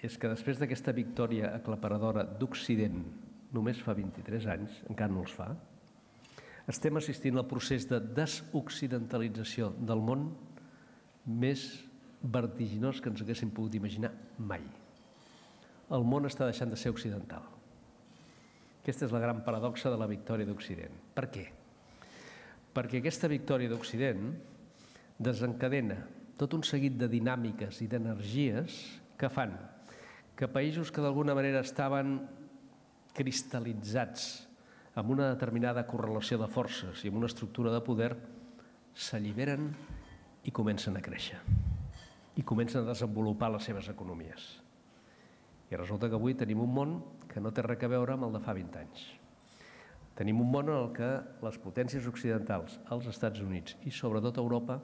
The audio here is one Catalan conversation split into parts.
és que després d'aquesta victòria aclaparadora d'Occident només fa 23 anys, encara no els fa, estem assistint al procés de desoccidentalització del món més vertiginós que ens haguéssim pogut imaginar mai. El món està deixant de ser occidental. Aquesta és la gran paradoxa de la victòria d'Occident. Per què? Perquè aquesta victòria d'Occident desencadena tot un seguit de dinàmiques i d'energies que fan que països que d'alguna manera estaven cristal·litzats amb una determinada correlació de forces i amb una estructura de poder s'alliberen i comencen a créixer i comencen a desenvolupar les seves economies. I resulta que avui tenim un món que no té res a veure amb el de fa 20 anys. Tenim un món en el que les potències occidentals, els Estats Units i sobretot Europa,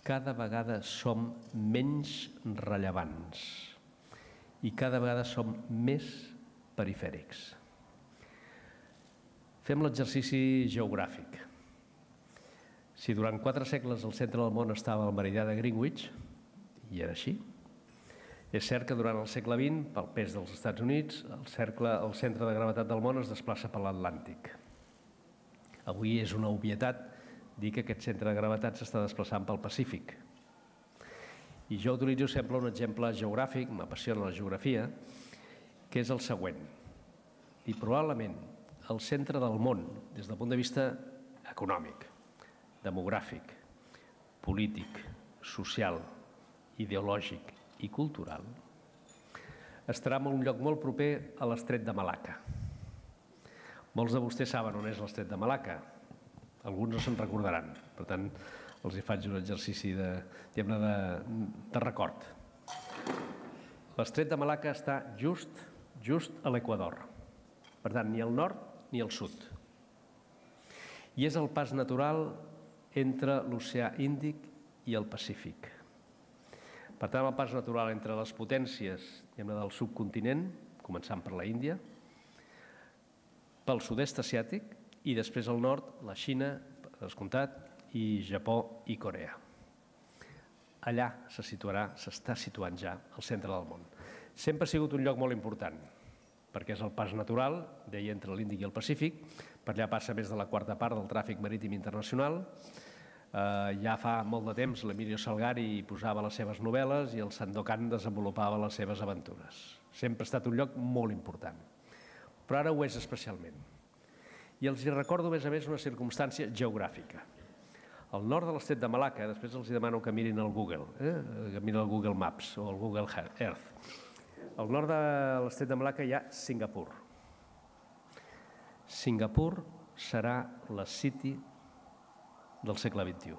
cada vegada som menys rellevants i cada vegada som més perifèrics. Fem l'exercici geogràfic. Si durant 4 segles el centre del món estava al meridià de Greenwich, i era així, és cert que durant el segle XX, pel pes dels Estats Units, el centre de gravetat del món es desplaça per l'Atlàntic. Avui és una obvietat dir que aquest centre de gravetat s'està desplaçant pel Pacífic. I jo utilitzo sempre un exemple geogràfic, m'apassiona la geografia, que és el següent. I probablement el centre del món, des del punt de vista econòmic, demogràfic, polític, social, ideològic i cultural, estarà en un lloc molt proper a l'Estret de Malacca. Molts de vostès saben on és l'Estret de Malacca. Alguns no se'n recordaran. Per tant, els hi faig un exercici de record. L'Estret de Malacca està just a l'Equador. Per tant, ni al nord ni al sud. I és el pas natural entre l'oceà Índic i el Pacífic. Per tant, el pas natural entre les potències del subcontinent, començant per la Índia, pel sud-est asiàtic i després al nord, la Xina, per descomptat, i Japó i Corea. Allà s'està situant ja el centre del món. Sempre ha sigut un lloc molt important, perquè és el pas natural, deia, entre l'Índic i el Pacífic. Per allà passa més de la quarta part del tràfic marítim internacional. Ja fa molt de temps l'Emilio Salgari posava les seves novel·les i el Sandokan desenvolupava les seves aventures. Sempre ha estat un lloc molt important, però ara ho és especialment. I els recordo, a més, una circumstància geogràfica. Al nord de l'Estret de Malacca, després els demano que mirin el Google, que mirin el Google Maps o el Google Earth. Al nord de l'Estret de Malacca hi ha Singapur. Singapur serà la City del segle XXI.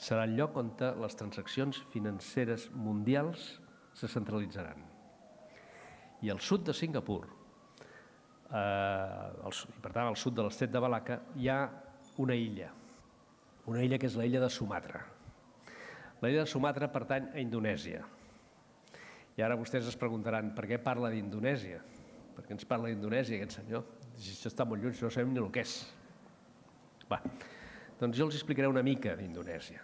Serà el lloc on les transaccions financeres mundials se centralitzaran. I al sud de Singapur, per tant al sud de l'Estret de Malacca, hi ha una illa que és l'illa de Sumatra. L'illa de Sumatra pertany a Indonèsia. I ara vostès es preguntaran per què parla d'Indonèsia? Per què ens parla d'Indonèsia aquest senyor? Si això està molt lluny, no sabem ni el que és. Doncs jo els explicaré una mica d'Indonèsia.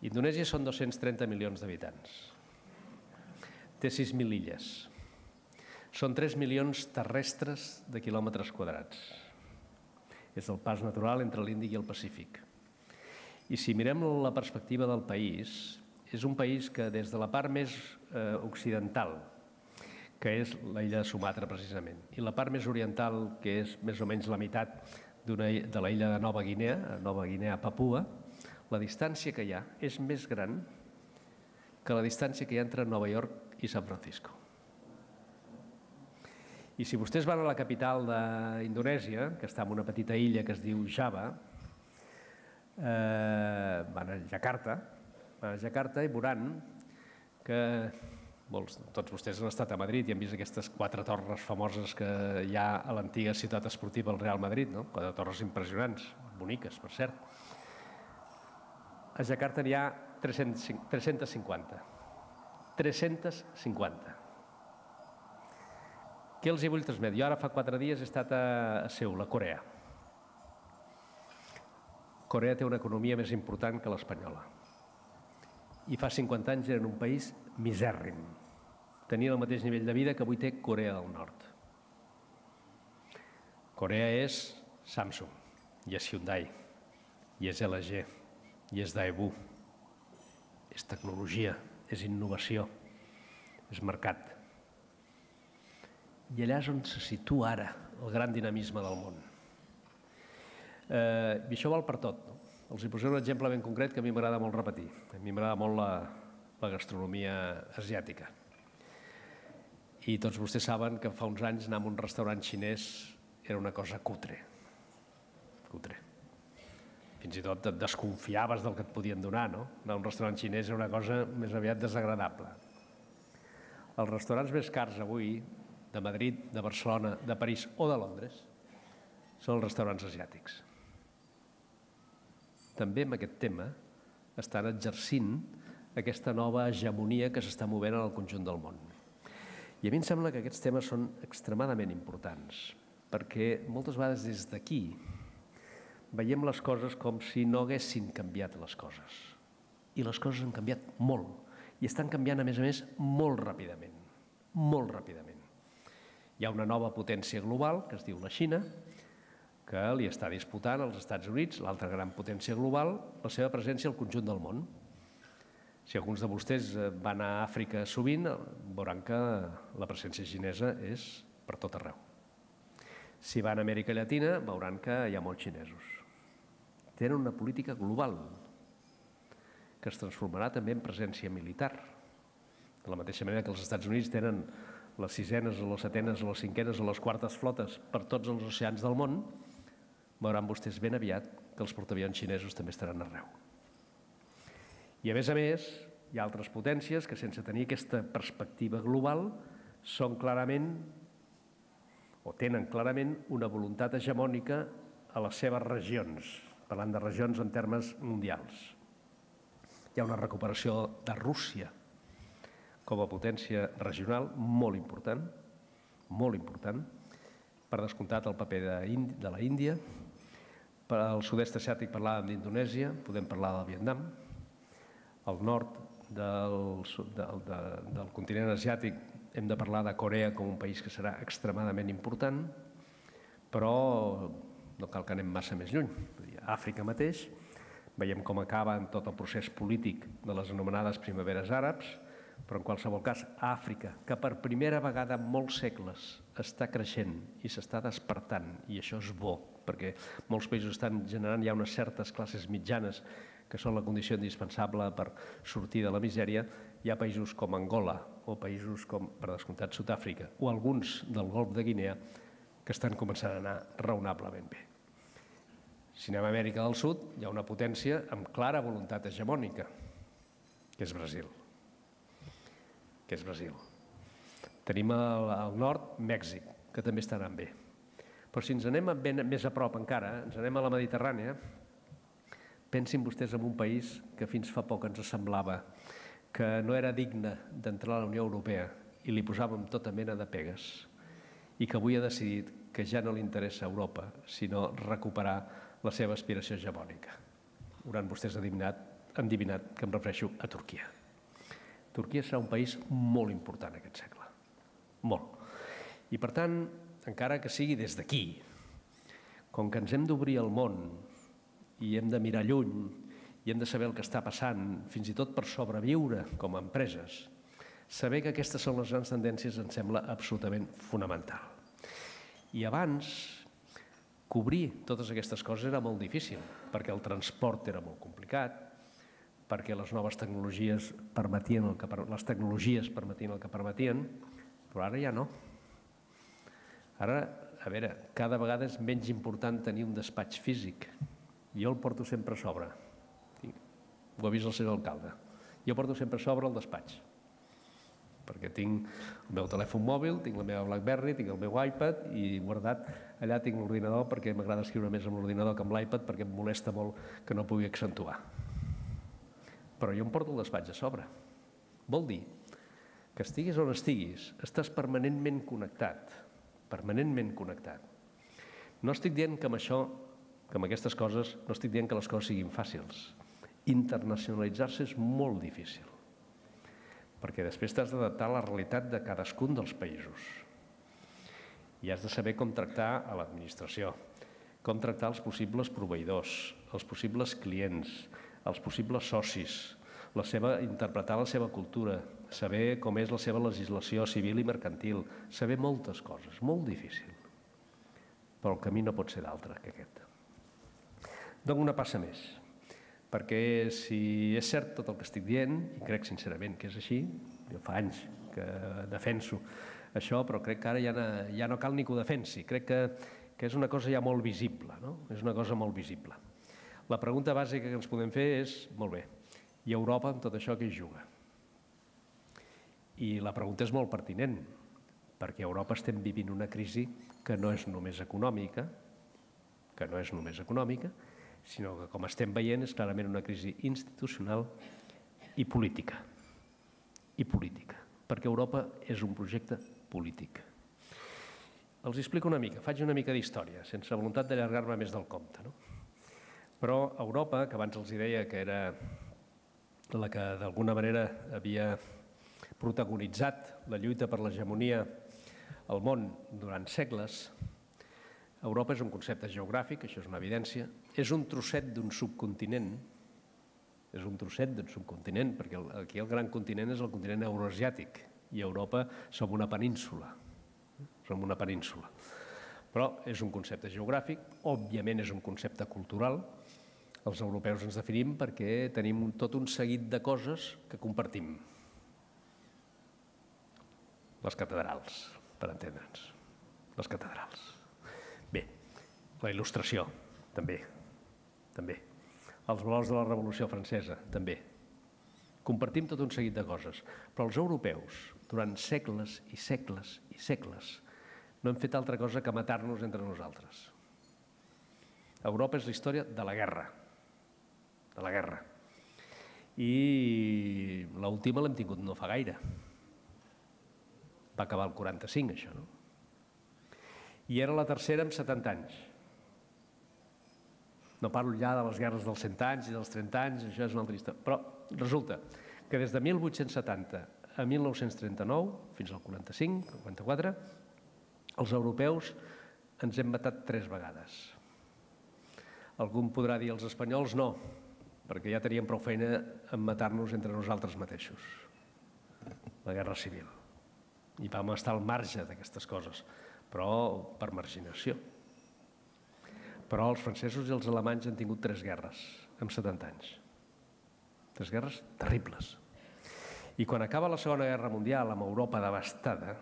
Indonèsia són 230 milions d'habitants. Té 6.000 illes. Són 3 milions terrestres de quilòmetres quadrats. És el pas natural entre l'Índic i el Pacífic. I si mirem la perspectiva del país, és un país que des de la part més occidental, que és l'illa de Sumatra precisament, i la part més oriental, que és més o menys la meitat de la illa de Nova Guinea Papua, la distància que hi ha és més gran que la distància que hi ha entre Nova York i San Francisco. I si vostès van a la capital d'Indonèsia, que està en una petita illa que es diu Java, van a Jakarta i veuran que tots vostès han estat a Madrid i han vist aquestes 4 torres famoses que hi ha a l'antiga ciutat esportiva del Real Madrid, 4 torres impressionants, boniques, per cert. A Jakarta n'hi ha 350. 350. Què els hi vull transmetre? Jo ara fa 4 dies he estat a Seül, a Corea. Corea té una economia més important que l'espanyola. i fa 50 anys eren un país misèrrim. Tenien el mateix nivell de vida que avui té Corea del Nord. Corea és Samsung, i és Hyundai, i és LG, i és Daewoo. És tecnologia, és innovació, és mercat. I allà és on se situa ara el gran dinamisme del món. I això val per tot. Els hi posaré un exemple ben concret que a mi m'agrada molt repetir. A mi m'agrada molt la gastronomia asiàtica. I tots vostès saben que fa uns anys anar a un restaurant xinès era una cosa cutre. Fins i tot et desconfiaves del que et podien donar, no? Anar a un restaurant xinès era una cosa més aviat desagradable. Els restaurants més cars avui, de Madrid, de Barcelona, de París o de Londres, són els restaurants asiàtics. També amb aquest tema estan exercint aquesta nova hegemonia que s'està movent en el conjunt del món. I a mi em sembla que aquests temes són extremadament importants, perquè moltes vegades des d'aquí veiem les coses com si no haguessin canviat les coses. I les coses han canviat molt, i estan canviant, a més, molt ràpidament. Molt ràpidament. Hi ha una nova potència global, que es diu la Xina, que li està disputant als Estats Units, l'altra gran potència global, la seva presència al conjunt del món. Si alguns de vostès van a Àfrica sovint, veuran que la presència xinesa és per tot arreu. Si van a Amèrica Llatina, veuran que hi ha molts xinesos. Tenen una política global que es transformarà també en presència militar. De la mateixa manera que els Estats Units tenen les sisenes, les setenes, les cinquenes o les quartes flotes per tots els oceans del món, veuran vostès ben aviat que els portaavions xinesos també estaran arreu. I a més, hi ha altres potències que sense tenir aquesta perspectiva global són clarament o tenen clarament una voluntat hegemònica a les seves regions, parlant de regions en termes mundials. Hi ha una recuperació de Rússia com a potència regional molt important, per descomptat el paper de la Índia. Per al sud-est asiàtic parlàvem d'Indonèsia, podem parlar del Vietnam. Al nord del continent asiàtic hem de parlar de Corea com un país que serà extremadament important, però no cal que anem massa més lluny. A Àfrica mateix veiem com acaba en tot el procés polític de les anomenades primaveres àrabs, però en qualsevol cas a Àfrica, que per primera vegada en molts segles està creixent i s'està despertant, i això és bo, perquè molts països estan generant ja unes certes classes mitjanes que són la condició indispensable per sortir de la misèria. Hi ha països com Angola o països com, per descomptat, Sud-àfrica o alguns del Golf de Guinea que estan començant a anar raonablement bé. Si anem a Amèrica del Sud, hi ha una potència amb clara voluntat hegemònica, que és Brasil. Tenim al nord Mèxic, que també està anant bé. Però si ens anem més a prop encara, ens anem a la Mediterrània, pensin vostès en un país que fins fa poc ens semblava que no era digne d'entrar a la Unió Europea i li posàvem tota mena de pegues i que avui ha decidit que ja no li interessa Europa, sinó recuperar la seva aspiració hegemònica. Hauran vostès endivinat que em refereixo a Turquia. Turquia serà un país molt important aquest segle, molt. I per tant, encara que sigui des d'aquí, com que ens hem d'obrir al món i hem de mirar lluny i hem de saber el que està passant, fins i tot per sobreviure com a empreses, saber que aquestes són les grans tendències em sembla absolutament fonamental. I abans, cobrir totes aquestes coses era molt difícil, perquè el transport era molt complicat, perquè les noves tecnologies permetien el que permetien, però ara ja no. Ara, a veure, cada vegada és menys important tenir un despatx físic. Jo el porto sempre a sobre. Ho ha vist el senyor alcalde. Jo porto sempre a sobre el despatx, perquè tinc el meu telèfon mòbil, tinc la meva BlackBerry, tinc el meu iPad i guardat allà tinc l'ordinador perquè m'agrada escriure més amb l'ordinador que amb l'iPad perquè em molesta molt que no pugui accentuar. Però jo em porto el despatx a sobre. Vol dir que estiguis on estiguis, estàs permanentment connectat, permanentment connectat. No estic dient que amb això, que amb aquestes coses, no estic dient que les coses siguin fàcils. internacionalitzar-se és molt difícil, perquè després t'has d'adaptar a la realitat de cadascun dels països i has de saber com tractar a l'administració, com tractar els possibles proveïdors, els possibles clients, els possibles socis, interpretar la seva cultura, saber com és la seva legislació civil i mercantil, saber moltes coses, molt difícil. Però el camí no pot ser d'altre que aquest. Dono una passa més, perquè si és cert tot el que estic dient, i crec sincerament que és així, jo fa anys que defenso això, però crec que ara ja no cal ni que ho defensi, crec que és una cosa ja molt visible, no? És una cosa molt visible. La pregunta bàsica que ens podem fer és, molt bé, i Europa amb tot això què hi juga? I la pregunta és molt pertinent, perquè a Europa estem vivint una crisi que no és només econòmica, sinó que, com estem veient, és clarament una crisi institucional i política. Perquè Europa és un projecte polític. Els explico una mica, faig una mica d'història, sense voluntat d'allargar-me més del compte. Però Europa, que abans els deia que era la que d'alguna manera havia protagonitzat la lluita per l'hegemonia al món durant segles, Europa és un concepte geogràfic, això és una evidència, és un trosset d'un subcontinent, perquè aquí el gran continent és el continent euroasiàtic i Europa som una península. Però és un concepte geogràfic, òbviament és un concepte cultural. Els europeus ens definim perquè tenim tot un seguit de coses que compartim. Les catedrals, per entendre'ns. Les catedrals. Bé, la il·lustració, també. Els valors de la Revolució Francesa, també. Compartim tot un seguit de coses. Però els europeus, durant segles i segles i segles, no hem fet altra cosa que matar-nos entre nosaltres. Europa és la història de la guerra. I l'última l'hem tingut no fa gaire. Va acabar el 45, això, no? I era la tercera en 70 anys. No parlo ja de les guerres dels 100 anys i dels 30 anys, això és una altra història. Però resulta que des de 1870 a 1939, fins al 45, 44, els europeus ens hem matat 3 vegades. Algú em podrà dir, els espanyols no, perquè ja teníem prou feina en matar-nos entre nosaltres mateixos. La Guerra Civil. I vam estar al marge d'aquestes coses, però per marginació. Però els francesos i els alemanys han tingut 3 guerres en 70 anys. 3 guerres terribles. I quan acaba la Segona Guerra Mundial amb Europa devastada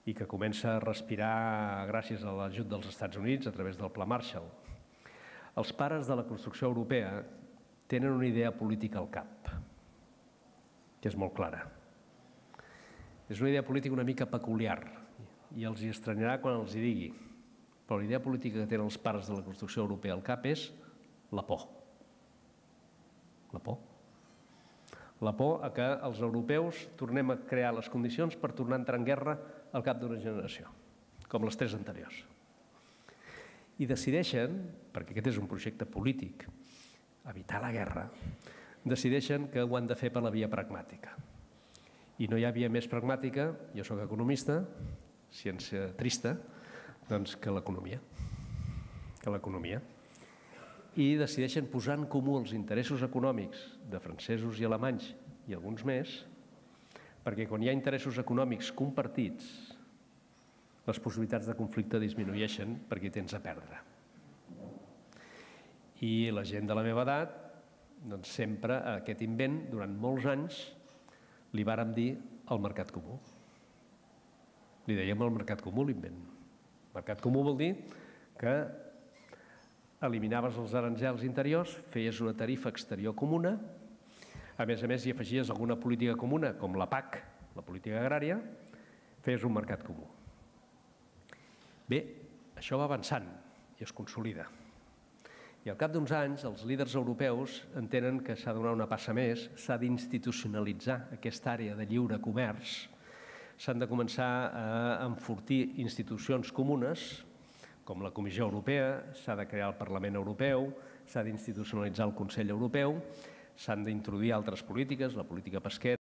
i que comença a respirar gràcies a l'ajut dels Estats Units a través del Pla Marshall, els pares de la construcció europea tenen una idea política al cap, que és molt clara. És una idea política una mica peculiar i els hi estranyarà quan els hi digui, però la idea política que tenen els pares de la construcció europea al cap és la por. La por. La por a que els europeus tornem a crear les condicions per tornar a entrar en guerra al cap d'una generació, com les 3 anteriors. I decideixen, perquè aquest és un projecte polític, evitar la guerra, decideixen que ho han de fer per la via pragmàtica. I no hi ha via més pragmàtica, jo soc economista, ciència trista, doncs que l'economia. I decideixen posar en comú els interessos econòmics de francesos i alemanys i alguns més, perquè quan hi ha interessos econòmics compartits, les possibilitats de conflicte disminueixen perquè tens a perdre. I la gent de la meva edat, doncs sempre a aquest invent, durant molts anys, li vàrem dir el mercat comú. Li dèiem el mercat comú, l'invent. El mercat comú vol dir que eliminaves els aranzels interiors, feies una tarifa exterior comuna, a més hi afegies alguna política comuna, com la PAC, la política agrària, feies un mercat comú. Bé, això va avançant i es consolida. I al cap d'uns anys, els líders europeus entenen que s'ha de donar una passa més, s'ha d'institucionalitzar aquesta àrea de lliure comerç, s'han de començar a enfortir institucions comunes, com la Comissió Europea, s'ha de crear el Parlament Europeu, s'ha d'institucionalitzar el Consell Europeu, s'han d'introduir altres polítiques, la política pesquera,